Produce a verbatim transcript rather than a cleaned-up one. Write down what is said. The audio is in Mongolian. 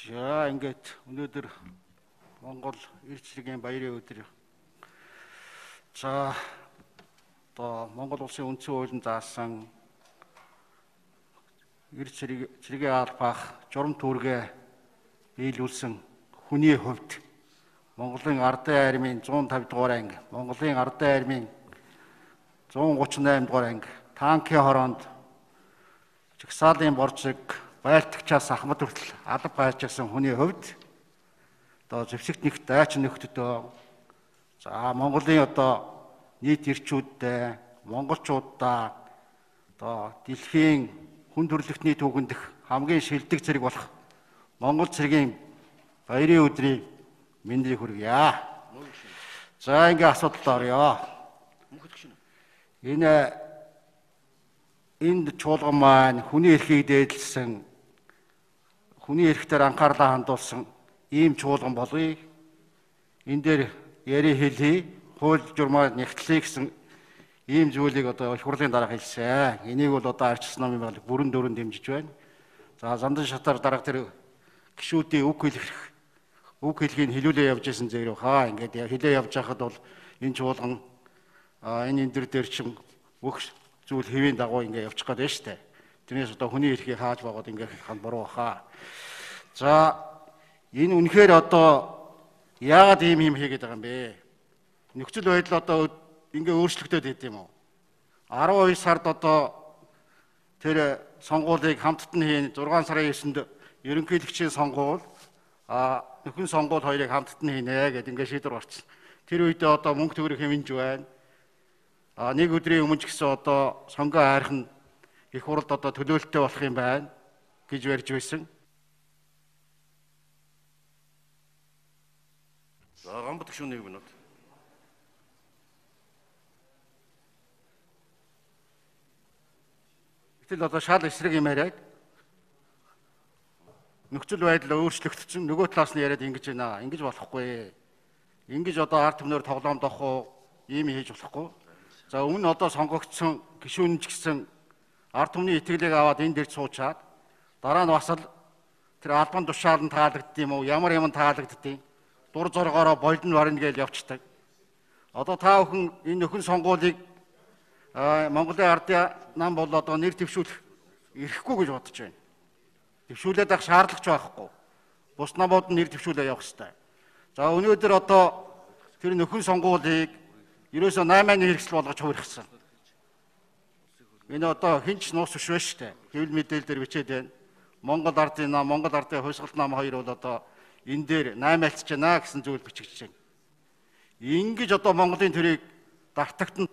За ингээд өнөөдөр Монгол эрч цэргийн баярын өдөр. За одоо Монгол улсын үндсэн хуулийн заасан эрч цэргийн албах журам түүргээ биелүүлсэн хүний хувьд Монголын ардын армийн зуун тавь дугаар анги, Монголын ардын армийн зуун гучин наймд дугаар анги, танкийн хороонд жагсаалын борцыг байлтагчаас ахмад хүртэл алба байжсэн хүний хувьд одоо зэвсэгт нэг дайч нөхдөдөө за Монголын одоо нийт эрчүүдтэй монголчуудаа одоо дэлхийн хүн төрөлхтний түүхэнд хамгийн шилдэг цэрэг болох Монгол цэргийн баярын өдрийн мэндийг хүргье. За ингээ асуудалд орё. Энэ энд чуулган маань хүний эрхийг дээдлсэн, хүний эрхтэр анхаарлаа хандуулсан ийм чуулган болъё. Энэ дээр яри хэлье, хууль журмаар нэгтлээ гэсэн ийм зүйлийг одоо их хурлын дараа хэлсэн. Энийг бол одоо арчилсан номын байгууллага бүрэн дөрөнд дэмжиж байна. За зандан шатаар дарга тэр гишүүдийн үг хэлэх үг хэлхийг хэлүүлээ явж исэн зэрэг хаа ингээд хэлээ явж байхад бол энэ чуулган энэ энэ төр дээр чинь бүх зүйл хэвийн дагуу ингээд явчих гээд байна шүү дээ. Тэрнээс одоо хүний эрхийг хааж байгаад ингээд хань буруу хаа. За энэ үнэхээр одоо яагаад ийм юм хийгээд байгаа юм бэ? Нөхцөл байдал одоо ингээд өөрчлөгдөд байд юм уу? арван хоёр сард одоо тэр сонгуулийг хамттан хийн зургаан сарын есэнд ерөнхийлөгчийн сонгуул а нөхөн сонгуул хоёрыг хамттан хийнэ гэдэг ингээд шийдвэр гарсан. Тэр үедээ одоо мөнгө төгрөг хэмнэж байна. А нэг өдрийн өмнө ч гэсэн одоо сонгоо хайрхан их хурлд одоо төлөөлөлттэй болох юм байна гэж барьж байсан. За гамбат гүшүүн нэг минут. Гэтэл одоо шал эсрэг юм яриад нөхцөл байдал өөрчлөгдсөн нөгөө талаас нь яриад ингэж байна. Ингэж болохгүй. Ингэж одоо ард түмнээр тоглоом дохоо ийм хийж болохгүй. За өмнө одоо сонгогдсон гишүүн ч гэсэн ард түмний итгэлийг аваад энэ дээр суучаад дараа нь бас л тэр албан тушаал нь таалагдд юм уу? Ямар юм таалагддیں۔ Дур зоргоороо болдон варна гэж явцдаг. Одоо та бүхэн энэ нөхөн сонгуулийг Монголын ардын нам бол одоо нэр дэвшүүлэх эрхгүй гэж бодож байна. Дэвшүүлээд авах шаардлагач байхгүй. Бус намууд нь нэр дэвшүүлээ явах хэрэгтэй. За өнөөдөр одоо тэр нөхөн сонгуулийг ерөөсөө наймааны хэрэгсэл болгож хувиргасан. Энэ одоо хинч нуус биш байна шүү дээ. Хэвлэл мэдээлэл дээр бичээд байна. Монгол ардын нам, Монгол ардын хувьсгалт нам хоёр бол одоо энэ дээр наймаалцж байна гэсэн зүйл бичигдэж байна. Ингэж одоо Монголын төрийг дартагтанд